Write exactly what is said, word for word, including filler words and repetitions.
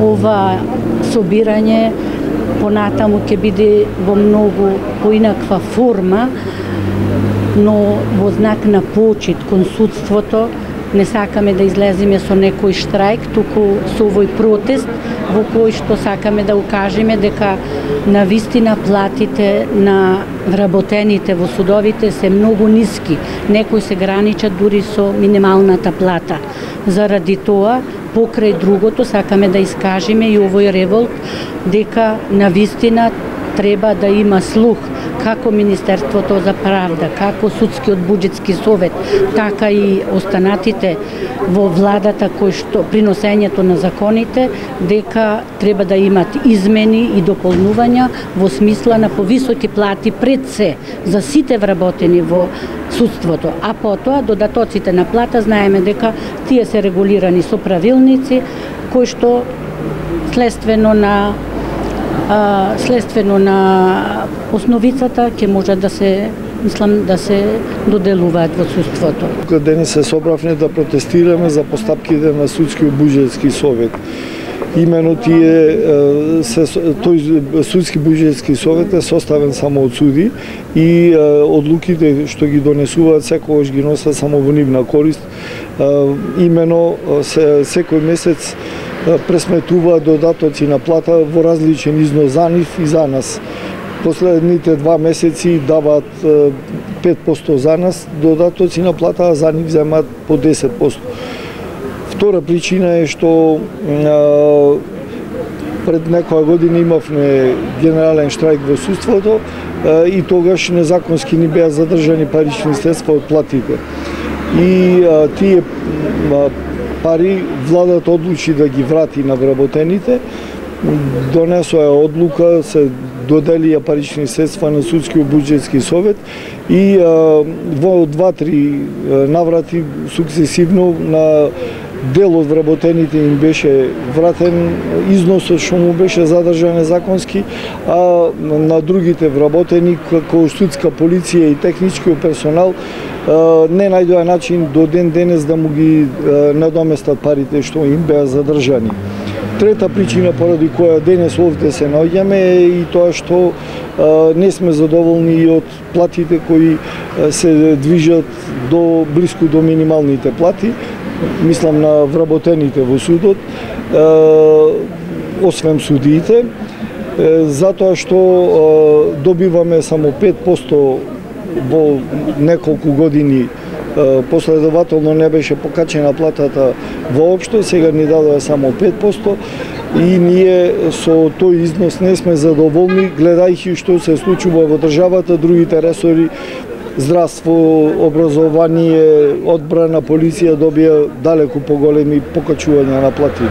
ова собирање понатаму ќе биде во многу поинаква форма, но во знак на почит кон судството. Не сакаме да излеземе со некој штрајк, туку со овој протест во кој што сакаме да укажеме дека навистина платите на вработените во судовите се многу ниски. Некои се граничат дури со минималната плата. Заради тоа, покрај другото, сакаме да искажеме и овој револт дека навистина треба да има слух како Министерството за правда, како Судскиот буџетски совет, така и останатите во владата кои што приносењето на законите, дека треба да имат измени и дополнувања во смисла на повисоки плати пред се за сите вработени во судството, а потоа додатоците на плата знаеме дека тие се регулирани со правилници кои што следствено на А, следствено на основицата ќе можат да се, мислам, да се доделуваат во судството. Денес се собравме да протестираме за постапките на Судскиот буџетски совет. Имено тие се, тој Судски буџетски совет е составен само од суди и одлуките што ги донесуваат секогаш ги носат само во нивна корист. Имено се, секој месец пресметуваат додатоци на плата во различен износ за нив и за нас. Последните два месеци даваат пет посто за нас додатоци на плата, а за нив земаат по десет посто. Втора причина е што а, пред некоја година имавме генерален штрајк во судството а, и тогаш незаконски ни беа задржани парични средства од платите. И а, тие а, пари владата одлучи да ги врати на вработените, донесоа одлука, се доделија парични средства на Судскиот буџетски совет и а, во два-три наврати сукцесивно на дел од вработените им беше вратен износот што му беше задржан незаконски, а на другите вработени како судска полиција и техничкиот персонал не најдоа начин до ден денес да му ги надоместат парите што им беа задржани. Трета причина поради која денес овде се наоѓаме е и тоа што не сме задоволни и од платите кои се движат до блиску до минималните плати. Мислам на вработените во судот, освен судиите, затоа што добиваме само пет посто во неколку години, последователно не беше покачена платата воопшто, сега ни дадоа само пет посто и ние со тој износ не сме задоволни, гледајќи што се случува во државата, другите ресори, здравство, образование, одбрана, полиција добија далеку поголеми покачувања на плати.